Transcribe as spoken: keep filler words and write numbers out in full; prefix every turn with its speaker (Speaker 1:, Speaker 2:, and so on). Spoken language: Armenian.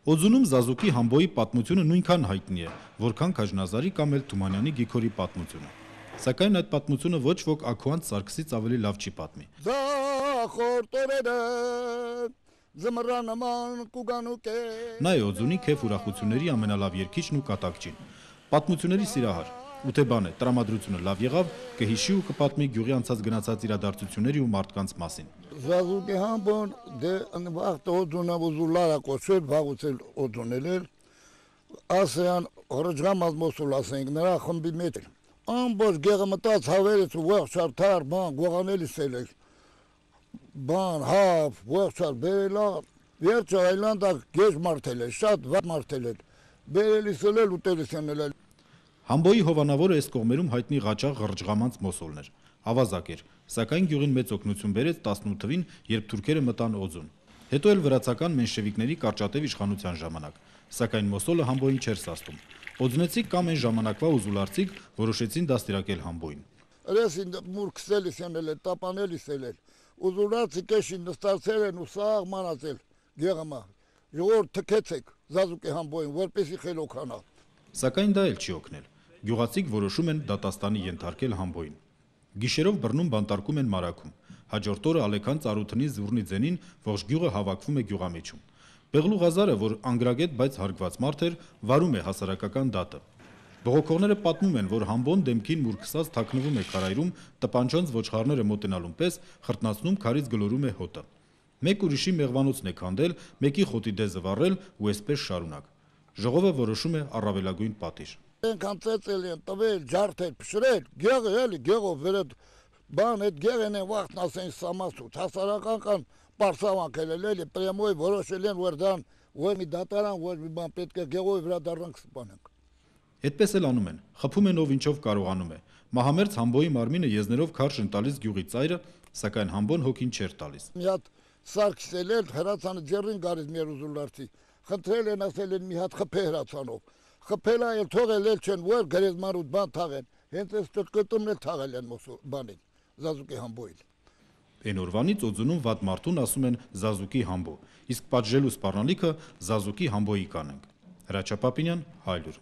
Speaker 1: Օձունում Զազուկի Համբոյի պատմությունը նույնքան հայտնի է, որքան Քաջնազարի կամ էլ Թումանյանի Գիգորի պատմությունը։ Սակայն այդ պատմությունը ոչ ոք Աքոանց Սարգսից ավելի լավ չի պատմի։ Նա է Օձունի քեֆ ուրախությունների ամենալավ երգիչն ու կատակչին։ Պատմությունների սիրահար, ու թե բան է, տրամադրությունը լավ եղավ, կհիշի ու կպատմի գյուղի անցած գնացած իրադարձությունների ու մարդկանց մասին։
Speaker 2: Զազուկի Համբոն դե վաղտ Օձունը ուզուլարա կոչել, վաղուցել Օձունել էր, ասեան հրճղամած մոսուլ ասենք նրա խմբի մեջ էր։ Ամբողջ գեղը մտած հավերից ու ողջար թար, բան, գողանելիս էլ էր, բան, հավ, ողջար, բերելա, վերջը այլանդակ գեժ մարդել էր, շատ վատ մարդել էր, բերելիս էլ էլ ուտելիս էլ էլ։
Speaker 1: Համբոյի հովանավորը այս կողմերում հայտնի Ղաչաղ Ղրջղամանց մոսոլն էր, ավազակ էր, սակայն գյուղին մեծ օգնություն բերեց տասնութ թվին, երբ թուրքերը մտան Օձուն։ Հետո էլ վրացական մենշևիկների կարճատև իշխանության ժամանակ, սակայն մոսոլը Համբոյին չէր սաստում։ Օձնեցիք կամ այն ժամանակվա ուզուլարցիք որոշեցին դաստիարակել Համբոյին։
Speaker 2: Ռեսին մուրքսելիս էլ էր, տապանելիս էլ էր, ուզուլարցիք էշին նստացել են ու սաղ մանացել գեղամա, ժողովուրդ թքեցեք Զազուկի Համբոյին, որպեսի խելոքանա։
Speaker 1: Սակայն դա էլ չի օգնել։ Գյուղացիք որոշում են դատաստանի ենթարկել Համբոյին։ Գիշերով բռնում բանտարկում են Մարաքում։ Հաջորդ օրը Ալեքան Ծառութնի Զուռնի ձենին ողջ գյուղը հավաքվում է գյուղամիջում։ Բեղլու Ղազարը, որ անգրագետ, բայց հարգված մարդ էր, վարում է հասարակական դատը։ Բողոքողները պատմում են, որ Համբոն դեմքին մուրքսած թաքնվում է քարայրում, տպանչոնց ոչխարները մոտենալուն պես խրտնացնում քարից գլորում է հոտը։ Մեկ ուրիշի մեղվանոցն է քանդել, մեկի խոտի դեզը վառել ու այսպես շարունակ։ Ժողովը որոշում է առավելագույն պատիժ։
Speaker 2: Ենքան ծեծել են, տվել, ջարդել, փշրել, գեղը էլի, գեղով վերդ, բան էդ գեղեն են վաղթն ասեն սամասուց, հասարակական պարսավանքել էլ էլի, պրեմոյ որոշել են, որ դան, որ մի դատարան, որ մի բան պետք է գեղով վրա դառնանք սպանենք։
Speaker 1: Այդպես էլ անում են, խփում են ով ինչով կարողանում է։ Մահամերձ Համբոյի մարմինը եզներով քարշ են տալիս գյուղի ծայրը, սակայն Համբոն հոգին չէր տալիս։
Speaker 2: Մի հատ Սարգսել էլ հրացանը ձեռին գալիս մեր ուզուլարցի, խնդրել են ասել են մի հատ խփե հրացանով։ Խփելա էլ թողել էլ չեն, որ գերեզմանուտ բան թաղեն, հենց այս տրկտումն էլ թաղել են բանին, Զազուկի Համբոյին։
Speaker 1: Այն օրվանից Օձունում վատ մարդուն ասում են Զազուկի Համբո, իսկ պատժելու սպառնալիքը Զազուկի Համբոյի կանենք։ Հրաչյա Պապինյան, Հայլուր։